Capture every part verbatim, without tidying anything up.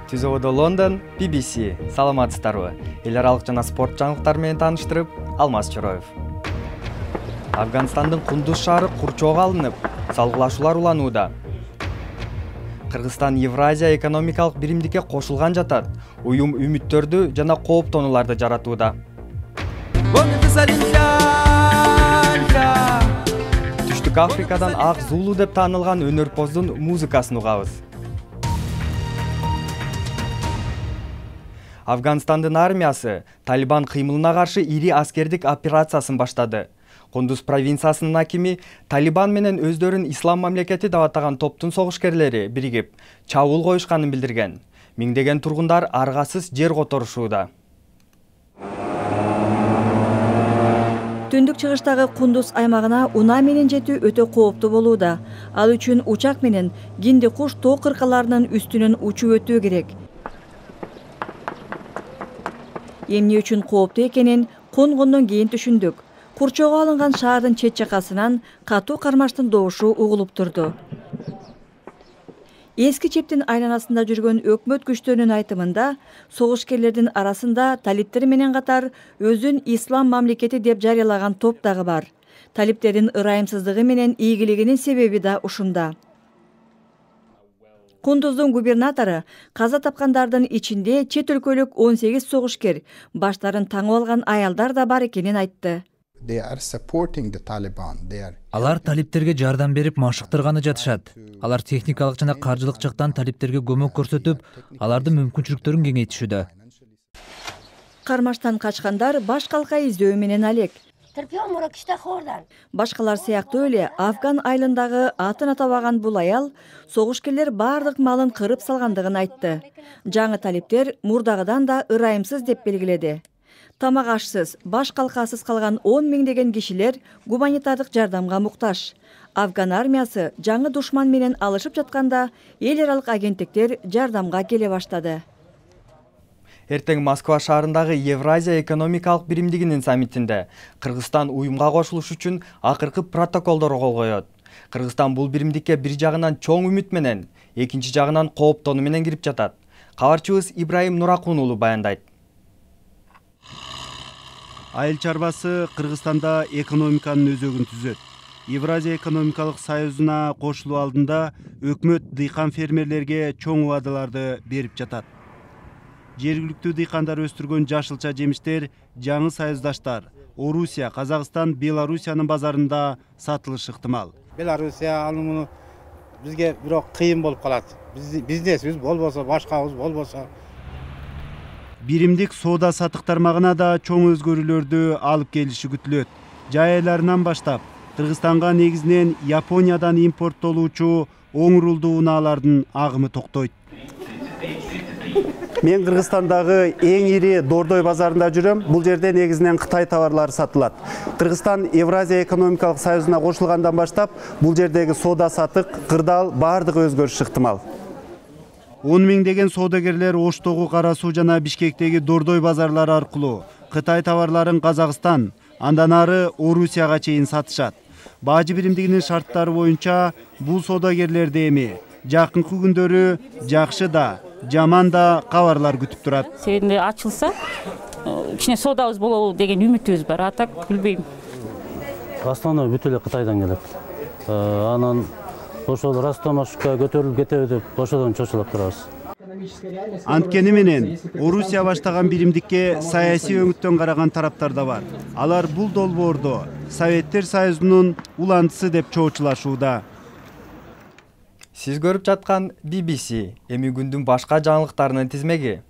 Түзөөдө Лондон, би би си. Саламатсыздарбы? Эл аралык жана спорт жаңылыктары менен тааныштырып, Алмаз Чороев. Афганистандын Кундуз шаары курчоого алынып, салгылашуулар уланууда. Кыргызстан Евразия экономикалык биримдикке кошулган жатат. Уюм үмүттөрдү жана кооптонууларды жаратууда. Түштүк Африкадан Ак Зулу деп таанылган өнөрпоздун музыкасын угабыз. Афганистандын армиясы Талибан кыймылына каршы ири аскердик операциясын баштады. Кундуз провинциясынын акими Талибан менен өздөрүн ислам мамлекети деп атаган топтун согушкерлери биригип, чабуул коюшканын билдирген. Миңдеген тургундар аргасыз жер которушууда. Түндүк чыгыштагы Кундуз аймагына унаа менен жетүү өтө кооптуу болууда. Ал үчүн учак менен кинди куш тоо кыркаларынын үстүнөн учуп өтүү керек. Эмне үчүн кооптуу экенин конгондон кийин түшүндүк. Курчоого алынган шаардын чет жакасынан катуу кармаштын добушу угулуп турду. Эски чептин айланасында жүргөн өкмөт күчтөрүнүн айтымында, согушкерлердин арасында талиптер менен катар өзүн ислам мамлекети деп жарыялаган топ дагы бар. Талиптердин ырайымсыздыгы менен ийгилигинин себеби да ушунда. Кундуздун губернатору каза тапкандардын ичинде чет өлкөлүк он сегиз согушкер, баштарын таңып алган аялдар да бар экенин айтты. Алар талиптерге жардам берип машыктырганы жатышат. Алар техникалык жана каржылык жактан талиптерге көмөк көрсөтүп, алардын мүмкүнчүлүктөрүн кеңейтишүүдө. Кармаштан качкандар баш калка издөө менен алек. Башкалар сыяктуу эле Афган айылындагы атын атабаган бул аял согушкерлер бардык малын кырып салгандыгын айтты. Жаңы талиптер мурдагыдан да ырайымсыз деп белгиледи. Тамак ашсыз, баш калкасыз калган он миңдеген кишилер гуманитардык жардамга муктаж. Афган армиясы жаңы душман менен алышып жатканда эл аралык агенттиктер жардамга келе баштады. Эртең Москва шаарындагы Евразия экономикалык биримдигинин саммитинде Кыргызстан уюмга кошулуш үчүн акыркы протоколдорго кол коет. Кыргызстан бул биримдикке бир жагынан чоң үмүт менен, экинчи жагынан кооптонуу менен кирип жатат. Кабарчыбыз Ибраим Нуракун уулу баяндайт. Айыл чарбасы Кыргызстанда экономиканын өзөгүн түзөт. Евразия экономикалык союзуна кошулуу алдында өкмөт дыйкан фермерлерге чоң убадаларды берип жатат. Жергиликтүү дыйкандар өстүргөн жашылча жемиштер жаңы союздаштар Орусия, Казакстан, Белоруссиянын базарында сатылышы ыктымал. Белоруссия алымы бизге бирок кыйын болуп калат. Бизнесибиз болбосо, башкабыз болбосо. Биримдик соода сатык тармагына да чоң өзгөрүүлөрдү алып келиши күтүлөт. Жай айларынан баштап Кыргызстанга негизинен Япониядан импорттолуучу оң рулдуу унаалардын агымы токтойт. Мен Кыргызстандагы эң ири Дордой базарында жүрөм. Бул жерде негизинен Кытай товарлары сатылат. Кыргызстан Евразия экономикалык союзуна кошулгандан баштап бул жердеги соода сатык, кырдаал бардыгы өзгөрүшү ыктымал. он миңдеген соодагерлер Оштогу, Кара Суу жана Бишкектеги Дордой базарлары аркылуу Кытай товарларын Казакстан, андан ары Орусияга чейин сатышат. Бажы биримдигинин шарттары боюнча бул соодагерлерди эми жакынкы күндөрү жакшы да, жаман да кабарлар күтүп турат. Себебинде ачылса, кичине соодабыз болобу деген үмүтүбүз бар. Атак билбейм. Основной бүт эле Кытайдан келет. Анан ошол Ростов-на-Дону көтөрүлүп кетеби деп ошодон чочулап турабыз. Анткени менен Орусия баштаган биримдикке саясий өңүттөн караган тараптар да бар. Алар бул долбоордо Советтер Союзунун улантысы деп чоочулашууда. Сиз көрүп жаткан би би си эми күндүн башка жаңылыктарынын тизмеги.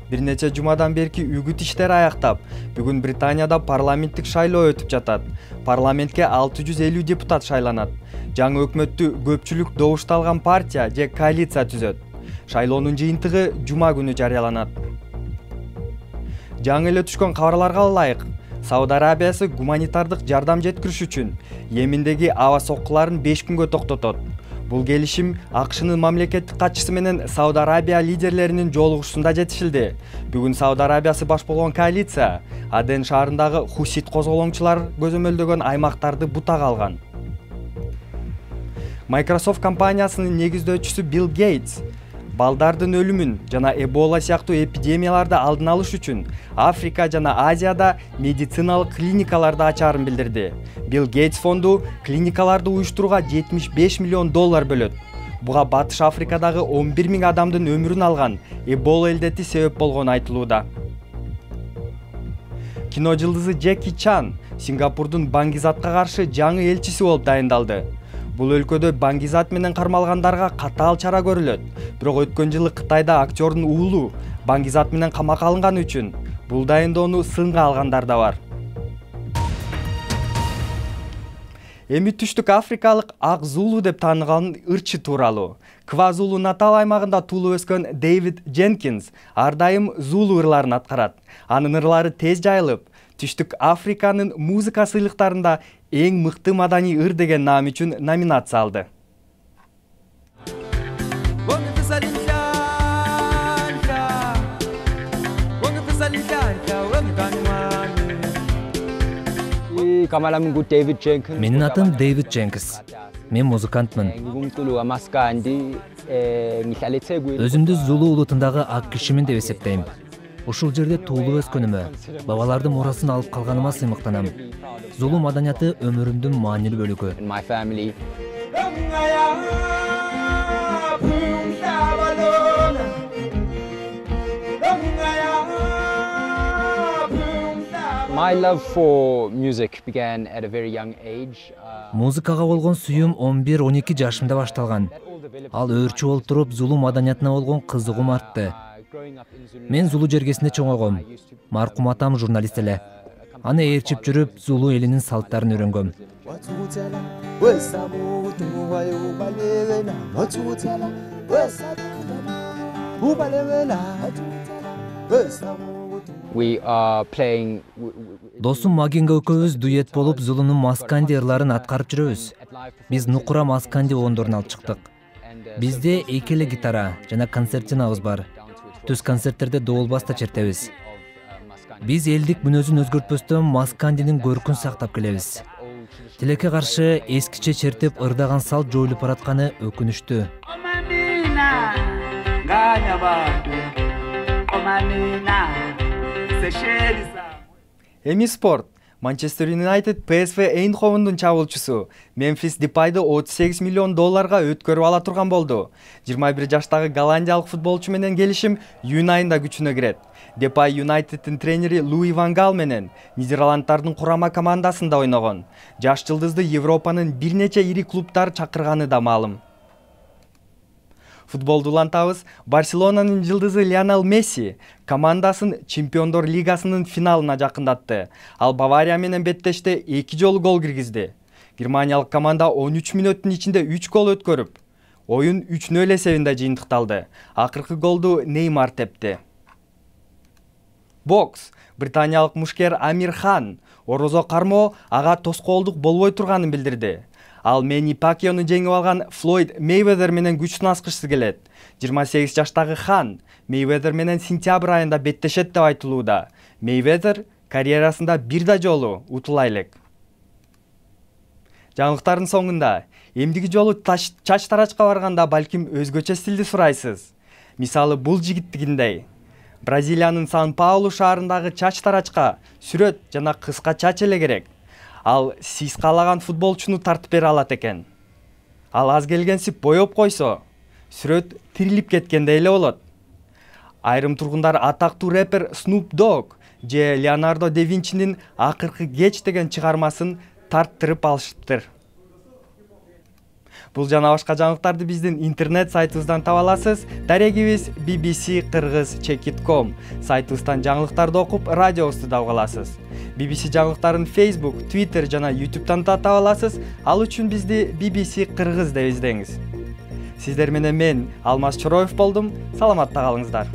Бир нече жумадан берки үгүт иштери аяктап, бүгүн Британияда парламенттик шайлоо өтүп жатат. Парламентке алты жүз элүү депутат шайланат. Жаңы өкмөттү көпчүлүк добушту алган партия же коалиция түзөт. Шайлоонун жыйынтыгы жума күнү жарыяланат. Жаңы эле түшкөн кабарларга ылайык, Сауд Арабиясы гуманитардык жардам жеткириш үчүн Йемендеги аба соккуларын беш күнгө токтотот. Бул келишим АКШнын мамлекеттик катчысы менен Сауд Арабия лидерлеринин жолугушуусунда жетишилди. Бүгүн Сауд Арабиясы баш болгон коалиция Аден шаарындагы хусит козголоңчулар көзөмөлдөгөн аймактарды бутага алган. Microsoft компаниясынын негиздөөчүсү Билл Гейтс балдардын өлүмүн жана Эбола сыяктуу эпидемияларды алдын алыш үчүн Африка жана Азияда медициналык клиникаларды ачаарын билдирди. Билл Гейтс фонду клиникаларды уюштурууга жетимиш беш миллион доллар бөлөт. Буга Батыш Африкадагы он бир миң адамдын өмүрүн алган Эбола илдети себеп болгону айтылууда. Кино жылдызы Джеки Чан Сингапурдун баңгизатка каршы жаңы элчиси болуп дайындалды. Бул өлкөдө баңгизат менен кармалгандарга катаал чара көрүлөт. Бирок өткөн жылы Кытайда актёрдун уулу баңгизат менен камакка алынганы үчүн бул дайындоону сынга алгандар да бар. Эми түштүк Африкалык ак Зулу деп таанылган ырчы тууралуу. Квазулу Натал аймагында туулуп өскөн Дэвид Дженкинс ар дайым Зулу ырларын аткарат. Анын ырлары тез жайылып, түштүк Африканын музыка сыйлыктарында эң мыкты маданий ыр деген наам үчүн номинация алды. Менин атым Дэвид Дженкинс. Мен музыкантмын. Өзүмдү Зулу улутундагы ак кишимин деп эсептейм. Ушул жерде туулуп өскөнүмө, бабалардын мурасын алып калганыма сыймыктанам. Зулу маданияты өмүрүмдүн маанилүү бөлүгү. My love for music began at a very young age. Музыкага болгон сүйүүм он бир он эки жашымда башталган. Ал өөрчү болуп туруп, Зулу маданиятына болгон кызыгуум артты. Мен Зулу жергесинде чоңойгом. Маркум атам журналист эле. Аны ээрчип жүрүп, Зулу элинин салттарын үйрөнгөм. We are playing. Досум Магинга экөөбүз дуэт болуп Зулунун масканди ырларын аткарып жүрөбүз. Биз нукура масканди оондорун алып чыктык. Бизде эки эле гитара жана концерт-жинабыз бар. Түз концерттерде доолбаста чертебиз. Биз элдик мүнөзүн өзгөртпөстөн маскандинин көркүн сактап келебиз. Тилекке каршы эскиче чертип ырдаган салт жоюлуп баратканы өкүнүчтүү. Эми спорт. Манчестер Юнайтед Пи Эс Ви Эйнховендун чабуулчусу Мемфис Депайды отуз сегиз миллион долларга өткөрүп ала турган болду. жыйырма бир жаштагы голландиялык футболчу менен келишим июнь айында күчүнө кирет. Депай Юнайтеддин тренери Луи Ван Гал менен Нидерланддардын курама командасында ойногон. Жаш жылдызды Европанын бир нече ири клубтары чакырганы да маалым. Футболду улантабыз. Барселонанын жылдызы Лионел Месси командасын Чемпиондор лигасынын финалына жакындатты. Ал Бавария менен беттеште эки жолу гол киргизди. Германиялык команда он үч мүнөттүн ичинде үч гол өткөрүп, оюн үч нөл эсебинде жыйынтыкталды. Акыркы голду Неймар тепти. Бокс. Британиялык мушкер Амир Хан орозо кармоо ага тоскоолдук болбой турганын билдирди. Ал Мени Пакьяны жеңип алган Флойд Мейвезер менен күч сынашкысы келет. жыйырма сегиз жаштагы Хан Мейвезер менен сентябрь айында беттешет деп айтылууда. Мейвезер карьерасында бир да жолу утула элек. Жаңылыктардын соңунда эмдиги жолу чач тарачка барганда балким өзгөчө стилди сурайсыз. Мисалы бул жигиттигиндей. Бразилиянын Сан-Паулу шаарындагы чач тарачка сүрөт жана кыска чач эле керек. Ал сиз каалаган футболчуну тартып бере алат экен. Ал аз келгенсип боёп койсо, сүрөт тирилип кеткендей эле болот. Айрым тургундар атактуу рэпер Snoop Dogg же Леонардо да Винчинин Акыркы кеч деген чыгармасын тарттырып алышыптыр. Бул жана башка жаңылыктарды биздин интернет сайтыбыздан таба аласыз. Дарегибиз би би си кыргыз чек ит точка ком. Сайтыбыздан жаңылыктарды окуп, радиобузду да уга аласыз. би би си жаңылыктарын Facebook, Twitter жана YouTube'дан да таба аласыз. Ал үчүн бизди би би си кыргыз деп издеңиз. Сиздер менен мен Алмаз Чороев болдум. Саламатта калыңыздар.